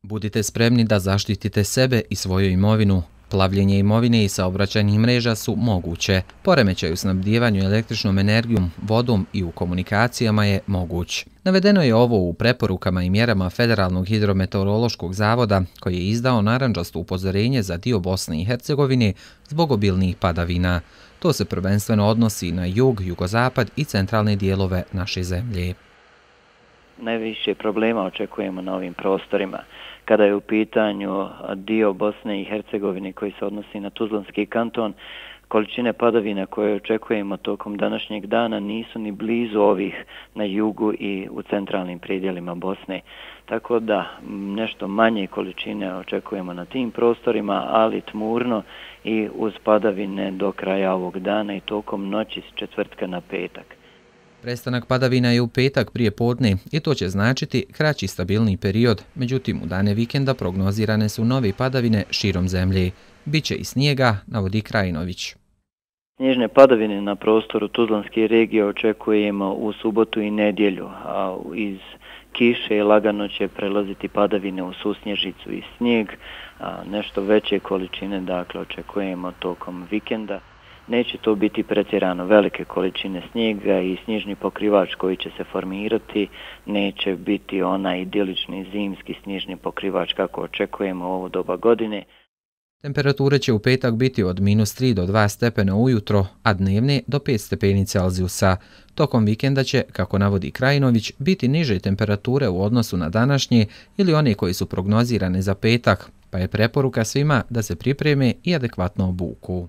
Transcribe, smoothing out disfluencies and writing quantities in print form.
Budite spremni da zaštitite sebe i svoju imovinu. Plavljenje imovine i saobraćajnih mreža su moguće. Poremećaj u snabdijevanju električnom energijom, vodom i u komunikacijama je moguć. Navedeno je ovo u preporukama i mjerama Federalnog hidrometeorološkog zavoda, koji je izdao narandžasto upozorenje za dio Bosne i Hercegovine zbog obilnih padavina. To se prvenstveno odnosi na jug, jugozapad i centralne dijelove naše zemlje. Najviše problema očekujemo na ovim prostorima. Kada je u pitanju dio Bosne i Hercegovine koji se odnosi na Tuzlanski kanton, količine padavina koje očekujemo tokom današnjeg dana nisu ni blizu ovih na jugu i u centralnim predjelima Bosne. Tako da nešto manje količine očekujemo na tim prostorima, ali tmurno i uz padavine do kraja ovog dana i tokom noći s četvrtka na petak. Prestanak padavina je u petak prije podne i to će značiti kraći stabilni period, međutim u dane vikenda prognozirane su nove padavine širom zemlje. Biće i snijega, navodi Krajinović. Snježne padavine na prostoru Tuzlanske regije očekujemo u subotu i nedjelju, a iz kiše lagano će prelaziti padavine u susnježicu i snijeg, a nešto veće količine dakle očekujemo tokom vikenda. Neće to biti pretjerano velike količine snijega i snježni pokrivač koji će se formirati, neće biti onaj idilični zimski snježni pokrivač kako očekujemo u ovo doba godine. Temperature će u petak biti od -3 do 2 stepena ujutro, a dnevne do 5 stepeni Celzijusa. Tokom vikenda će, kako navodi Krajinović, biti niže temperature u odnosu na današnje ili one koje su prognozirane za petak, pa je preporuka svima da se pripreme i adekvatno obuku.